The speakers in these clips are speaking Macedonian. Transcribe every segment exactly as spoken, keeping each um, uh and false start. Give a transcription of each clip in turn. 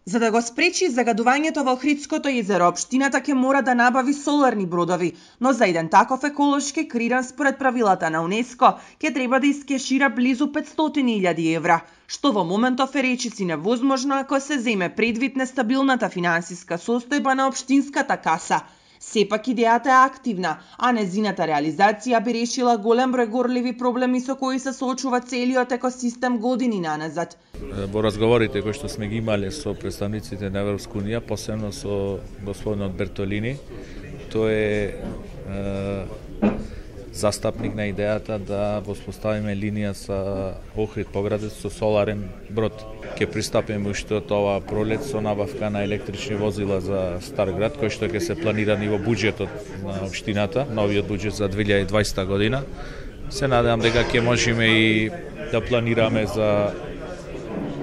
За да го спречи загадувањето во Охридското езеро, општината ќе мора да набави соларни бродови, но за еден таков еколошки криран според правилата на УНЕСКО ќе треба да искешира близу петстотини илјади евра, што во моментов е речиси невозможно ако се земе предвид нестабилната финансиска состојба на општинската каса. Сепак идејата е активна, а незината реализација би решила голем број горливи проблеми со кои се соочува целиот екосистем години наназад. Во разговорите кои што сме ги имале со представниците на Европска унија, посебно со господинот Бертолини, тој е, е застапник на идејата да воспоставиме линија со Охрид Поградец со соларен брод. Ќе пристапиме уште од ова пролет со набавка на електрични возила за Старград, кој што ќе се планирани во буџетот на општината, новиот буџет за две илјади и дваесета година. Се надевам дека ќе можеме и да планираме за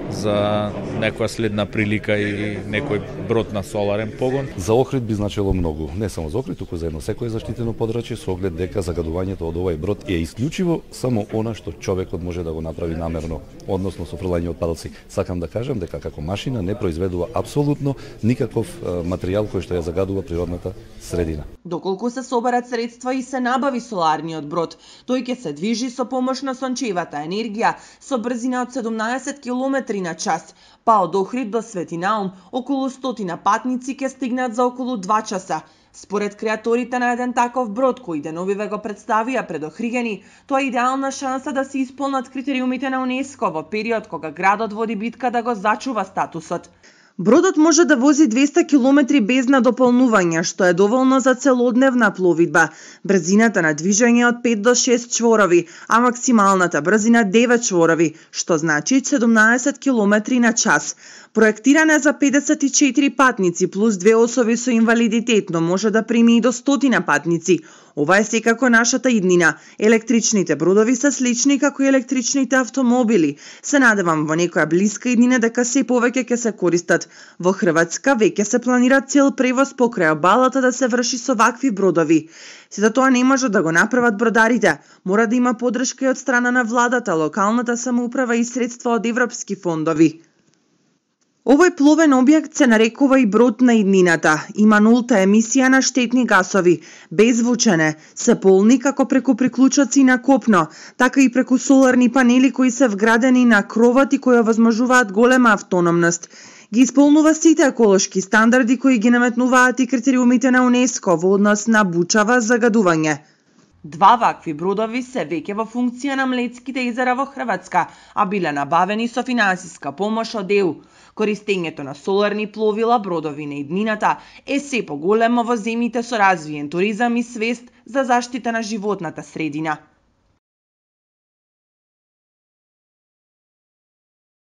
за некоја следна прилика и некој брод на соларен погон. За Охрид би значило многу, не само за Охрид, туку за едно секое заштитено подрачје со оглед дека загадувањето од овој брод е исклучиво само она што човекот може да го направи намерно, односно со фрлање отпадоци. Сакам да кажам дека како машина не произведува апсолутно никаков материјал кој што ја загадува природната средина. Доколку се соберат средства и се набави соларниот брод, тој ќе се движи со помош на сончевата енергија со брзина од седумнаесет километри на час, па од Охрид до Свети Наум околу стотина патници ќе стигнат за околу два часа. Според креаторите на еден таков брод кој деновиве го представија пред Охригени, тоа е идеална шанса да се исполнат критериумите на УНЕСКО во период кога градот води битка да го зачува статусот. Бродот може да вози двесте километри без надополнување, што е доволно за целодневна пловидба. Брзината на движење од пет до шест чворови, а максималната брзина девет чворови, што значи седумнаесет километри на час. Проектирана е за педесет и четири патници плюс две особи со инвалидитет, но може да прими и до стотина патници. Ова е секако нашата иднина. Електричните бродови се слични како и електричните автомобили. Се надевам во некоја блиска иднина дека се повеќе ќе се користат. Во Хрватска веќе се планира цел превоз покрај обалата да се врши со вакви бродови. Сето тоа не може да го направат бродарите. Мора да има поддршка и од страна на владата, локалната самоуправа и средства од европски фондови. Овој пловен објект се нарекува и брод на иднината. Има нулта емисија на штетни гасови, беззвучен е, се полни како преку приклучоци на копно, така и преку соларни панели кои се вградени на кровот и кои овозможуваат голема автономност. Ги исполнува сите еколошки стандарди кои ги наметнуваат и критериумите на УНЕСКО во однос на бучава загадување. Два вакви бродови се веќе во функција на Млетските езера во Хрватска, а биле набавени со финансиска помош од Е У. Користењето на соларни пловила, бродови на иднината е се поголемо во земјите со развиен туризам и свест за заштита на животната средина.